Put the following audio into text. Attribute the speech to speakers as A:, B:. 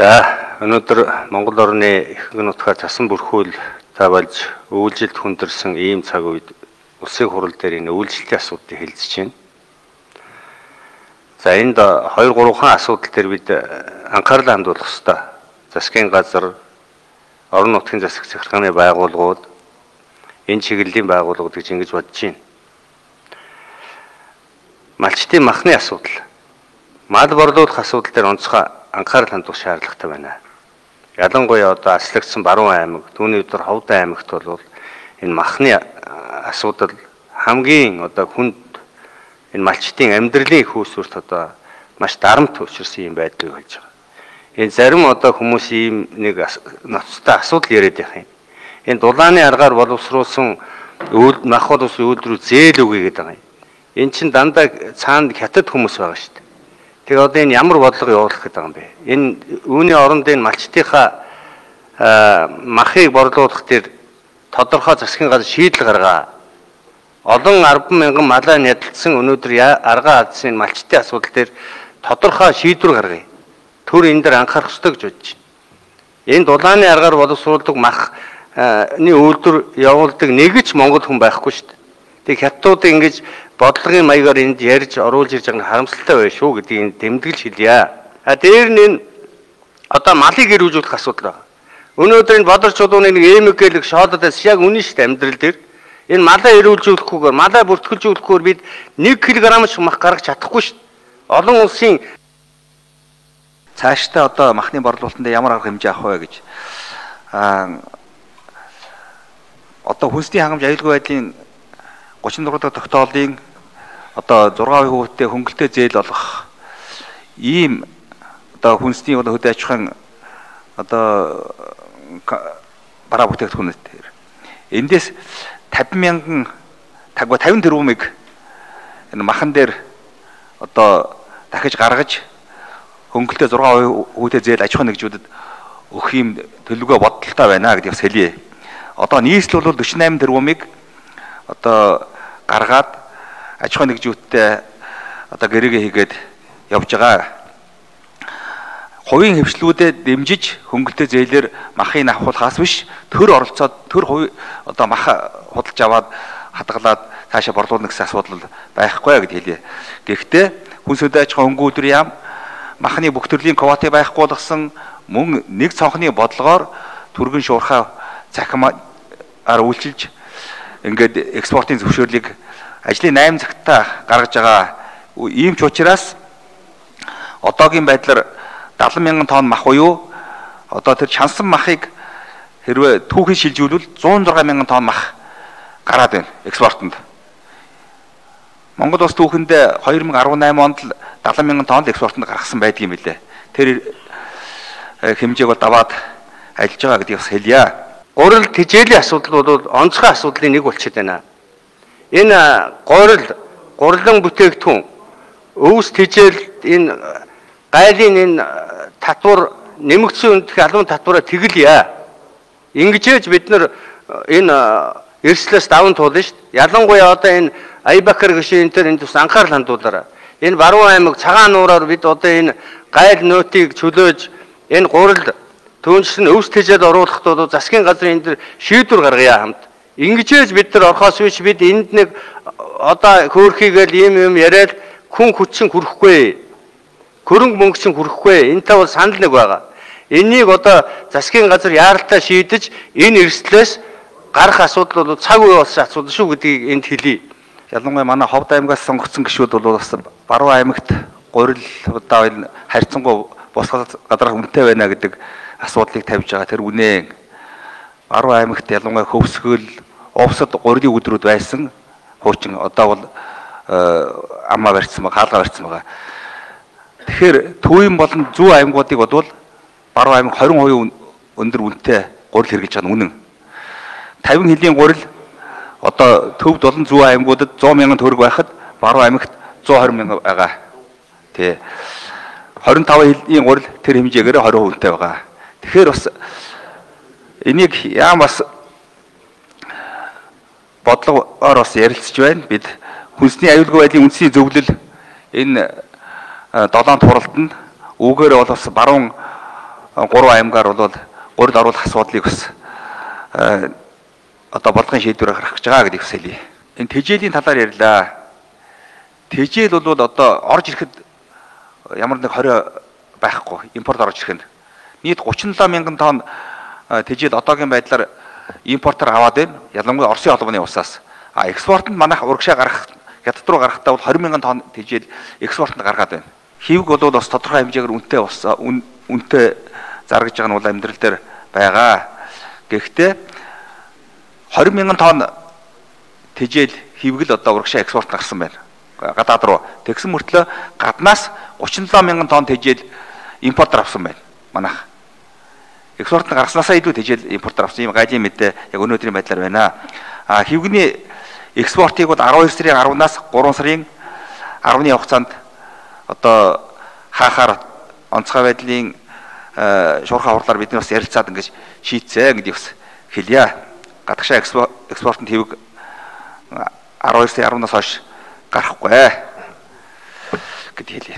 A: За өнөөдөр Монгол орны ихэнх нутгаар цасан бүрхүүл тавьж үйлжилт хүндэрсэн ийм цаг үед улсын хурал дээр энэ үйлчлэлийн асуудлыг хэлэлцэж байна. За энд 2-3 асуудал дээр бид анхаарлаа хандуулах ёстой. Засгийн газар, орон нутгийн засаг захиргааны байгууллагууд, энэ чиглэлийн байгууллагууд гэж ингэж бодож байна. Малчтын махны асуудал, мал борлуулах асуудал дээр онцгой анхаарал хандуулах шаардлагатай байна. Ялангуяа одоо аслагдсан Баруун аймаг, түүний өдөр Ховд аймагт бол энэ махны асуудал хамгийн одоо хүнд энэ малчтын амьдралын их үүсвэрт одоо маш дарамт учирсан юм байдгийг хэлж байгаа. Энэ зарим одоо хүмүүс ийм нэг ноцтой асуудал яриад байх юм. Энэ дулааны аргаар боловсруулсан мах боловсрол үйлдвэрүүд зээл өгье гэдэг байгаа юм. Энэ чинь дандаа цаанд хятад хүмүүс байгаа шүү дээ. Тэгээ одоо энэ ямар бодлого явуулах гэдэг юм бэ? Энэ үүний оронд энэ малчтынхаа махыг борлуулах дээр тодорхой засгийн газар шийдэл гаргаа. Олон 10,000 малаа нядалсан өнөөдөр аргаа алдсан малчтын асуудал дээр тодорхой шийдвэр гаргая. Төр энэ дээр анхаарах ёстой гэж бодож байна. Энэ дулааны аргаар боловсруулдаг махны үйлдвэр явуулдаг нэг ч монгол хүн байхгүй шүү дээ. Тэг хятадууд ингэж бодлогын маягаар энд ярьж оруулж ирж байгаа нь харамсалтай байна шүү гэдгийг тэмдэглэж хэлье. Дээр нь одоо малыг ирүүлжүүлэх асуудал байна. Өнөөдөр энэ бодор чулууны нэг эмэггэлэг шоолодоос яг үнэн шүү дээ амьдрал дээр. Энэ малаа ирүүлжүүлэхгүйгээр, малаа бүртгэлжүүлэхгүйгээр бид 1 кг ч мах гаргаж чадахгүй шүү дээ. Олон улсын
B: цаашдаа одоо махны борлуулалтанд ямар арга хэмжээ авах вэ гэж одоо хүнсний хангамж аюулгүй байдлын 36 дахь тогтоолын одоо 6%-тэй хөнгөлтэй зээл олох ийм одоо хүнсний хөдөө аж ахуйн одоо бараа бүтээгдэхүүнээр эндээс 50,000 тагва 50 тэрбумыг энэ махан дээр одоо дахиж гаргаж хөнгөлтэй 6%-тэй зээл аж ахуйн нэгжүүдэд өгөх юм төлөвлөгөө бодолтой байна гэдгийг бас хэлье. Одоо нийслэл бол 48 тэрбумыг одоо гаргаад аж ахуйн нэгжүүдтэй одоо гэрээгээ хийгээд явж байгаа. Хувийн хвшлүүдэд дэмжиж хөнгөлтэй зээлээр махыг авахулахаас биш төр оролцоод төр хувь одоо мах худалж аваад хадгалаад цаашаа борлуулна гэсэн асуудал байхгүй гэд хэлье. Гэхдээ хүнс хөдөө аж ахуйн хөнгөлтөр яам махны бүх төрлийн квотыг байхгүй болгосон мөн нэг цонхны бодлогоор түргэн шуурхаа цахимаар үйлчилж ингээд экспортын зөвшөөрлийг ажлын 8 цагтаа гаргаж байгаа. Ийм ч учраас одоогийн байдлаар 70,000 тонн мах буюу одоо тэр чансан махыг хэрвээ түүхий шилжүүлвэл 106,000 тонн мах гараад байна экспортод. Монгол улс түүхэндээ 2018 онд л 70,000 тонн экспортод гаргасан байдаг юм билээ. Тэр хэмжээг бол даваад ажиллаж байгаа гэдгийг бас хэлье.
A: Гурил тэжээлийн асуудал бол онцгой асуудлын нэг болчиход байна. Энэ гурилан бүтээгдэхүүн өвс тэжээл энэ гайлын энэ татвар нэмэгдсэн үндх албан татвараа тэгэлье. Ингэжээж бид нар энэ эрслээс даван туулна шүү дээ. Ялангуяа одоо энэ Аябакар гişийн энэ тус анхаарал хандуулаарай. Энэ Баруун аймаг цагаан нуураар бид одоо энэ гайл нөтийг чөлөөж энэ гурил түүнчлэн өвс тэжээд оруулахд бол засгийн газрын энэ шийдвэр гаргая хамт. Ингэжээж бид нар орхоос биш бид энд нэг одоо хөөрхийгээл ийм яриад хүн хүчин хүрэхгүй. Хөрөнгө мөнгө чинь хүрэхгүй. Энтэй бол санал нэг байгаа. Энийг одоо засгийн газар яаралтай шийдэж энэ эрсдлээс гарах асуудал бол цаг үе болсон асуудал шүү гэдгийг энд хэлье.
B: Ялангуяа манай Ховд аймагаас сонгогдсон гишүүд бол бас Баруун аймагт гурил удаа харьцангуй бус газар үнэтэй байна гэдэг асуудлыг тавьж байгаа. Тэр үнэ Баруун аймагт ялангуяа хөвсгөл, овсод гурилын өдрүүд байсан. Хуучин одоо бол аммаа барьсан байгаа, хаалгаа барьсан байгаа. Тэгэхээр төвийн болон зүүн аймагуудыг бодвол Баруун аймаг 20% өндөр үнэтэй гурил хэрэглэж байгаа нь үнэн. 50 хэлийн гурил одоо төвд болон зүүн аймагуудад 100,000 төгрөг байхад Баруун аймагт 120,000 байгаа. Тэ 25 хэлийн гурил тэр хэмжээгээр 20% үнэтэй байгаа. Тэгэхээр бас энийг яам бас бодлогоор бас ярилцж байна. Бид хүнсний аюулгүй байдлын үндсийн зөвлөл энэ 7 туралтанд үүгээр бол бас баруун 3 аймгаар бол гурил оруулах асуудлыг бас одоо бодлогын шийдвэрээр гаргах гэж байгаа гэдгийг хэлье. Энэ тэжээлийн талаар ярьлаа. Тэжээл бол одоо орж ирэхэд ямар нэг 20 байхгүй импорт орж ирэхэд нийт 37 мянган тонн тэжээл одоогийн байдлаар импортоор аваад байна. Ялангуяа Оросын холбооны улсаас. Экспортод манайх урагшаа гарах хятад руу гарахдаа бол 20 мянган тонн тэжээл экспортод гаргаад байна. Хивг бол бас тодорхой хэмжээгээр үнэтэй заргаж байгаа нь бол амьдрал дээр байгаа. Гэхдээ 20 мянган тонн тэжээл хивгэл одоо урагшаа экспорт гарсан байна. Гадаад руу. Тэгсэн мөртлөө гаднаас 37 мянган тонн тэжээл импортоор авсан байна. Манайх. Экспортод гаргаснасаа илүү тэжээл импортоор авсан юм гайлийн мэдээ яг өнөөдрийн байдлаар байна. Хивгэний экспортыг бол 12 сарын 10-наас 3 сарын 10-ны хугацаанд одоо хаахаар онцгой байдлын шуурхай хурлаар бид нар бас ярилцаад ингэж шийдсэн гэдгийг бас хэлье. Гадагшаа экспортод хивг 12 сарын 10-наас хойш гарахгүй гэдэг хэлье.